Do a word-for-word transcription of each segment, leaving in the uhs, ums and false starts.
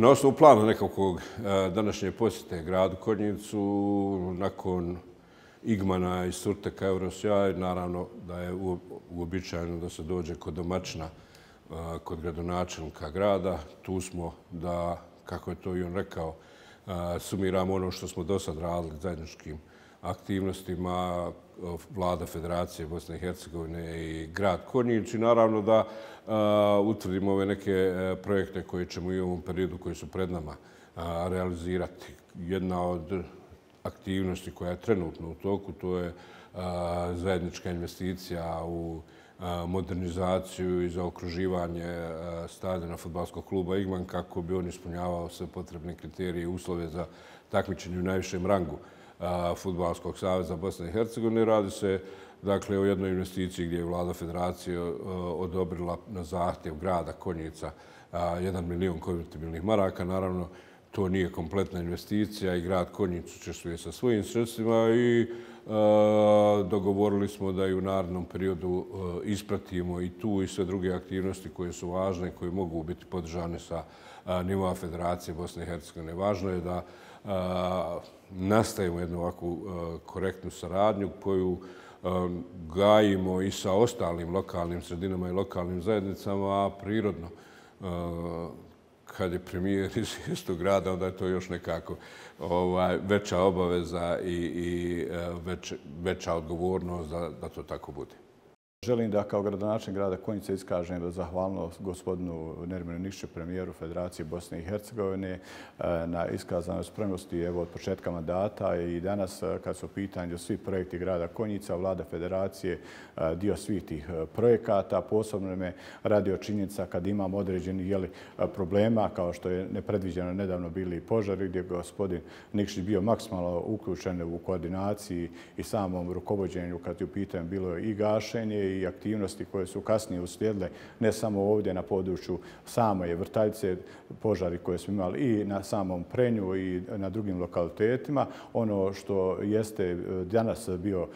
Na osnovu plana nekakvog današnje posjete gradu Konjicu, nakon Igmana i Surteka Eurosjaj, naravno da je uobičajeno da se dođe kod domaćina, kod gradonačelnika grada. Tu smo da, kako je to i on rekao, sumiramo ono što smo do sad radili zajedničkim aktivnostima Vlada Federacije Bosne i Hercegovine i grad Konjic i naravno da utvrdimo ove neke projekte koje ćemo i u ovom periodu koji su pred nama realizirati. Jedna od aktivnosti koja je trenutno u toku, to je zajednička investicija u modernizaciju i zaokruživanje stadiona fudbalskog kluba Igman kako bi on ispunjavao sve potrebne kriterije i uslove za takmičenje u najvišem rangu Fudbalskog saveza Bosne i Hercegovine. Radi se dakle o jednoj investiciji gdje je Vlada Federacije odobrila na zahtjev grada Konjica jedan milion konvertibilnih maraka. Naravno, to nije kompletna investicija i grad Konjic učestvuje sa svojim sredstvima i dogovorili smo da i u narednom periodu ispratimo i tu i sve druge aktivnosti koje su važne i koje mogu biti podržane sa nivoa Federacije Bosne i Hercegovine. Važno je da nastavimo jednu ovakvu korektnu saradnju koju gajimo i sa ostalim lokalnim sredinama i lokalnim zajednicama, a prirodno kad je premijer iz istog grada, onda je to još nekako veća obaveza i veća odgovornost da to tako bude. Želim da kao gradonačelnik grada Konjica iskažem zahvalnost gospodinu Nerminu Nikšiću, premijeru Federacije Bosne i Hercegovine, na iskazanoj spremnosti evo, od početka mandata i danas kad su u pitanju svi projekti grada Konjica, Vlada Federacije dio svih tih projekata. Posebno me radio činjenica kad imamo određenih jeli, problema kao što je nepredviđeno nedavno bili požari gdje je gospodin Nikšić bio maksimalno uključen u koordinaciji i samom rukovođenju kad je u pitanju bilo i gašenje i aktivnosti koje su kasnije uslijedile ne samo ovdje na području same Vrtaljce, požari koje smo imali i na samom Prenju i na drugim lokalitetima. Ono što jeste danas bio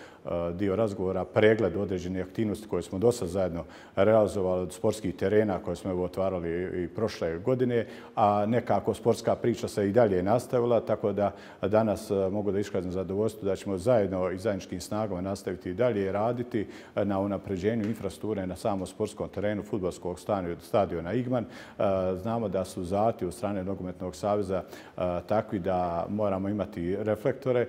dio razgovora, pregled određenih aktivnosti koje smo do sad zajedno realizovali od sportskih terena koje smo evo otvarali i prošle godine, a nekako sportska priča se i dalje nastavila, tako da danas mogu da iskazam zadovoljstvo da ćemo zajedno i zajedničkim snagama nastaviti i dalje raditi na unapređenju infrastrukture na samom sportskom terenu fudbalskog stadiona Igman. Znamo da su zahtjevi od strane Nogometnog saveza takvi da moramo imati reflektore.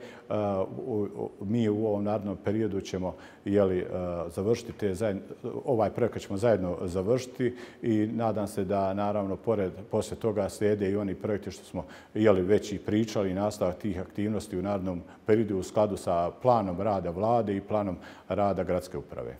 Mi u ovom narednom periodu ćemo jeli, završiti te zajedno, ovaj projekat ćemo zajedno završiti i nadam se da naravno pored poslije toga slijede i oni projekti što smo jeli, već i pričali i nastavak tih aktivnosti u narednom periodu u skladu sa planom rada vlade i planom rada gradske uprave.